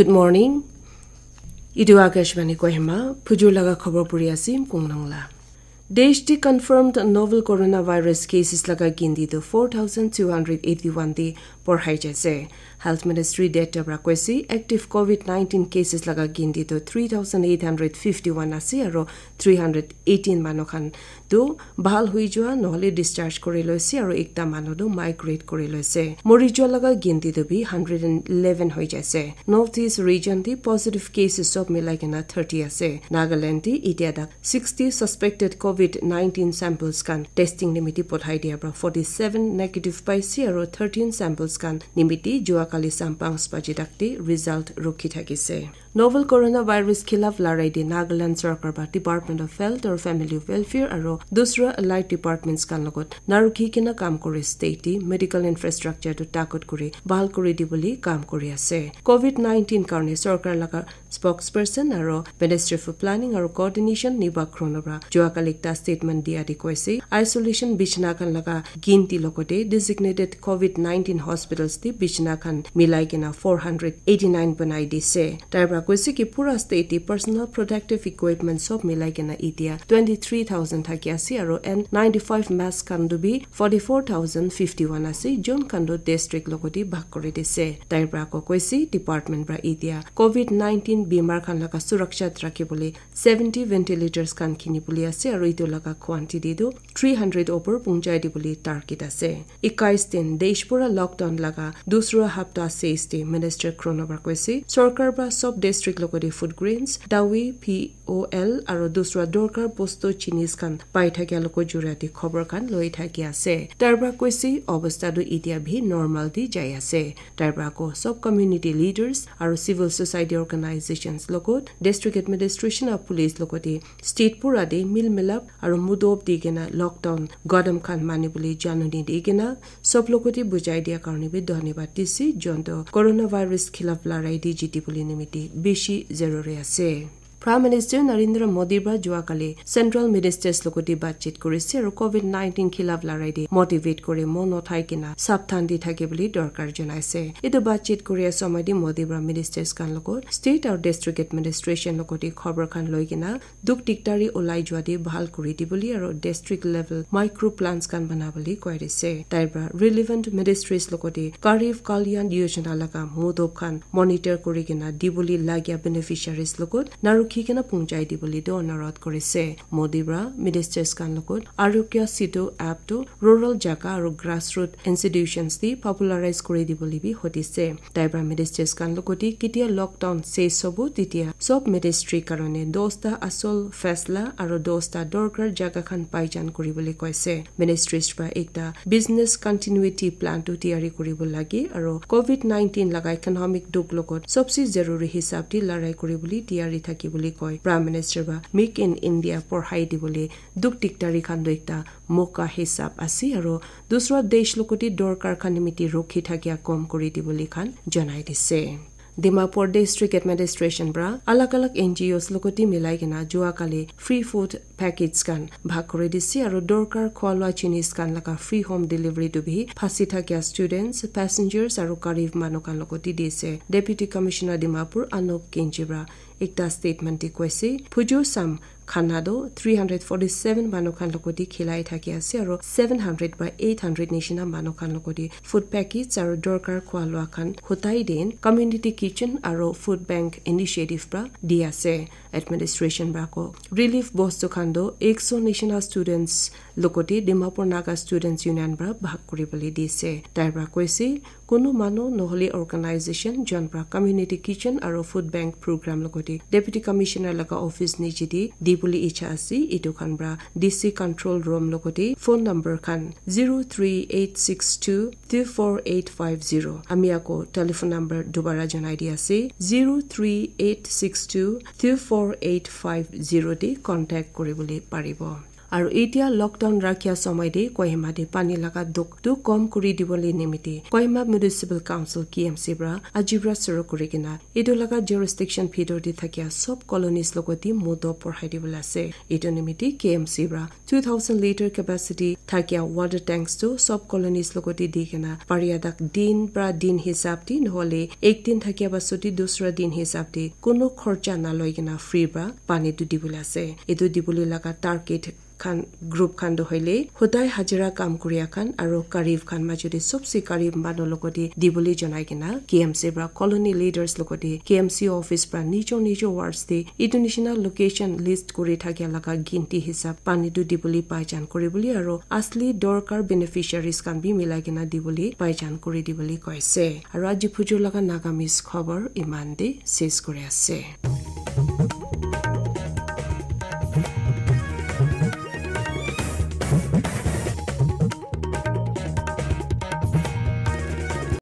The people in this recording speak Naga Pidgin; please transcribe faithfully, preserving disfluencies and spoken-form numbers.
Good morning. Etu Akashvani Kohima, phujur laga khobor puri ase, Mkung Nangla. Desh te confirmed novel coronavirus cases laga ginti tu four thousand two hundred eighty-one te porhai jaise. Health Ministry data pra koise, active covid nineteen cases laga ginti tu three thousand eight hundred fifty-one ase aro three hundred eighteen manu khan tu bhal hui jua nohole discharge kuri loise aro ekta manu tu migrate kuri loise. Mori jua laga ginti tu bi hundred and eleven hoi jaise. North East region te positive cases sob milai kena thirty ase. Nagaland te itia tak sixty suspected covid nineteen samples khan testing nimiti pothai dia pra forty-seven negative paise aro thirteen samples khan nimiti jua kali sam panch baji tak te result rukhi thakise. Novel coronavirus khilaf larai te Nagaland sarkar ba Department of Health or Family Welfare aro dusra allied departments khan logot narukhi kena kam kuri state te medical infrastructure tu takot kuri bhal kuri dibole kam kuri ase. covid nineteen karne sarkar laga spokesperson aro Ministry for Planning aro Coordination Niba Khrono pra jua kali ekta statement dia di koise, isolation bichna khan laga ginti logote designated covid nineteen hospitals te bichna khan milai kena four hundred eighty-nine banai dise. Tai pra koise ki pura state te personal protective equipment sob milai kena itia twenty-three thousand thaki ase aro N ninety-five mask khan tu bi forty-four thousand fifty-one ase, jun khan tu district logote bhag kuri dise. Tai pra ko koise department pra itia covid nineteen bimar khan laga suraksha rakhi bole seventy ventilators khan kini bole ase aro itu laga quantity tu three hundred opor punchai di bole target ase. Ekais din desh pura lockdown laga dusra hapta ses te Minister Khrono pra koise, sarkar pra sob district logote food grains, dawi, P O L aro dusra dorkar bostu jinis khan pai thakia loko jurati khobor khan loi thaki ase. Tai pra koise, obostha tu itia bhi normal di jai ase. Tai pra ko sob community leaders aro civil society organizations logot, district administration aro police logote state pura te mil milap aro mudob di kena lockdown gadam khan mani bole januni di kena sob logote bujai dia karne bi dhonyabad dise, jonto coronavirus khilaf larai te jiti bole nimiti bishi zaruri ase. Prime Minister Narendra Modi pra jua kali Central Ministers logote batchit kurise aro covid nineteen khilaf larai te motivate kuri mon uthai kena sabdhan di thake bole dorkar janaise. Etu batchit kuria somoi te Modi pra ministers khan logot state aro district administration logote khobor khan loi kena duk diktari ulai jua te bhal kuri di bole aro district level micro plans khan bana bole koi dise. Tai pra relevant ministries logote Garib Kalyan Yojana laga mudob khan monitor kuri kena di bole lagia beneficiaries logot narukhi kena punchai di bole tu onurodh kurise. Modi pra ministers khan logot Arogya Setu app tu rural jaga aro grassroot institutions te popularize kuri di bole bi hotise. Tai pra ministers khan logote ketia lockdown ses hobo tetia sob ministry karone dosta asol faisla aro dosta dorkar jaga khan paijan kuri bole koise. Ministries pra ekta business continuity plan tu tiyari kuri bole lage aro covid nineteen laga economic duk logot sobse zaruri hisab te larai kuri bole tiyari thaki bole koi. Prime Minister pra Make in India porhai di bole duk diktari khan tu ekta moka hisab ase aro dusra desh logote dorkar khan nimiti rukhi thakia kom kuri di bole khan janai dise. Dimapur District Administration pra alag alag N G Os logote milai kena jua kali free food packets khan bhag kuri dise aro dorkar khwa lua jinis khan laga free home delivery tu bi phasi thakia students, passengers aro garib manu khan logote dise. Deputy Commissioner Dimapur Anup Kenji pra ekta statement te koise, phujur sam khana do three hundred forty-seven manu khan logote khilai thaki ase aro seven hundred by eight hundred nishina manu khan logote food packets aro dorkar khwa lua khan hutai din community kitchen aro food bank initiative pra di ase. Administration pra ko relief bostu khan do ekso nishina students logote Dimapur Naga Students Union pra bhag kuri bole dise. Tai pra koise, kunu manu nohole organization jon pra community kitchen aro food bank program logote Deputy Commissioner laga office niche te di bole icha ase, etu khan pra D C control room logote phone number khan zero three eight six two two four eight five zero. Ami ako telephone number dubara janai di ase, zero three eight six two two four eight five zero te contact kuri bole paribo. Aru etia lockdown rakhia somoi te Kohima te pani laga dukh tu kom kuri dibole nimite Kohima Municipal Council, K M C, pra aji pra suru kuri kena etu laga jurisdiction bhitor te thakia sob colonies logote mudo porhai dibole ase. Etu nimite K M C pra two thousand litre capacity thakia water tanks tu sob colonies logote di kena paria dak din pra din hisab te nohole ek din thakia pasot te dusra din hisab te kunu khorcha naloi kena free pra pani tu dibole ase. Etu dibole laga target khan group khan tu hoile hodai hajira kam kuria khan aru garib khan majot te sobse garib manu logote dibole janai kena K M C pra colony leaders logote K M C office pra nijor nijor wards te etu nishina location list kuri thakia laga ginti hisab pani tu dibole paijan kuri bole aru asli dorkar beneficiaries khan bi milai kena dibole paijan kuri dibole koise. Aru aji phujur laga Nagamese khobor iman te ses kuri ase.